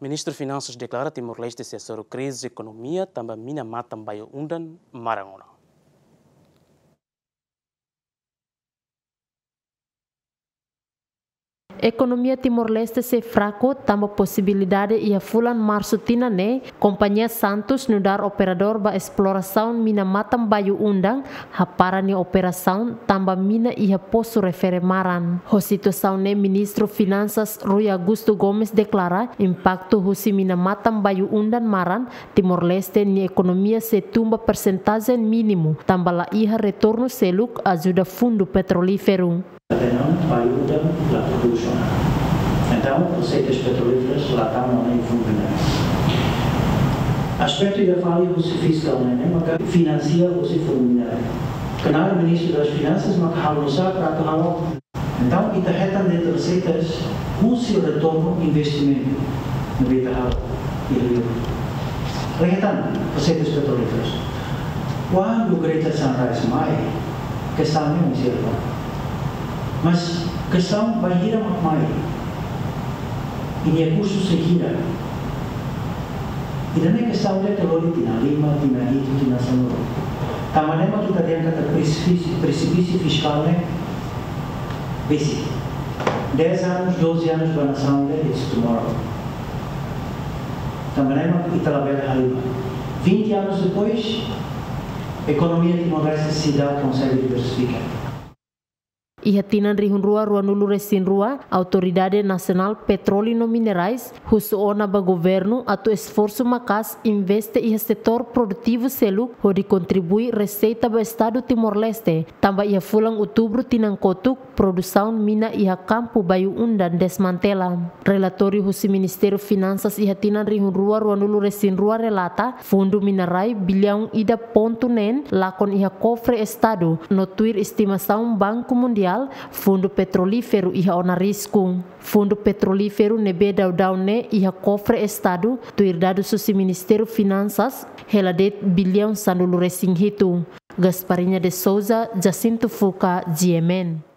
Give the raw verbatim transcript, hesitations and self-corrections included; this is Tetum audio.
Ministru Finansas deklara Timor-Leste sei hasoru krize ekonomia tanba mina matan bayu-undan maran ona. Ekonomia Timor-Leste sei fraku tanba posibilidade iha fulan Marsu tinan ne'e, kompañia Santos nu'udar operadór ba esplorasaun mina matan bayu-undan, hapara nia operasaun tanba mina iha posu refere maran. Ho situasaun ne'e Ministru Finansas Rui Augusto Gomes deklara impaktu husi mina matan bayu-undan maran, Timor-Leste nia ekonomia sei tun ba persentajen mínimu, tanba la iha retornu seluk ajuda fundu petrolíferu. Até não, bayu-undan la prodús ona. Entaun, reseitas petrolíferas la tama ona iha fundu ne'e. Aspetu ida fali husi fiskál ne'e, ne'e maka finansia husi fundu ne'e. Knaar Ministru das Finansas maka halo nu'usá para atu halo. Entaun, ita hetan de'it reseitas husi retornu investimentu ne'ebé ita halo iha liur. Ita hetan reseitas petrolíferas. Kuandu Greater Sunrise mai, kestaun ne'e sei iha ona. Mas kestaun bainhira mak mai, i nia kustu sei hira. Ida-ne'e kestaun ida ke lori tinan lima, tinan hitu, tinan sanulu. Tanba ne'e mak ita dehan katak presipísiu, presipísiu fiskál ne'e besik. Dez anos, doze anos ba nasaun ida, it's tomorrow. Tanba ne'e mak ita labele halimar. Vinte anos depois, ekonomia Timor-Leste seidauk konsege diversifika. Iha tinan rihun rua ruanulu resin rua, Autoridade Nasionál Petróleu no Minerais husu ona ba governu atu esforsu maka'as investe iha setór produtivu seluk hodi kontribui reseita ba Estadu Timor-Leste, tanba iha fulan Outubru tinan kotuk, produsaun mina iha kampu bayu-undan desmantela. Relatóriu husi Ministériu Finansas iha tinan rihun rua ruanulu resin rua relata, fundu mina rai biliaun ida pontu neen lakon iha kofre Estadu, no tuir estimasaun Banku Mundiál, fundu petrolíferu iha ona risku. Fundu petrolíferu ne'ebé daudaun ne'e iha kofre Estadu, tuir dadus husi Ministériu Finansas, hela de'it biliaun sanulu resin hitu. Gasparinha de Souza, Jacinto Fuca, G M N.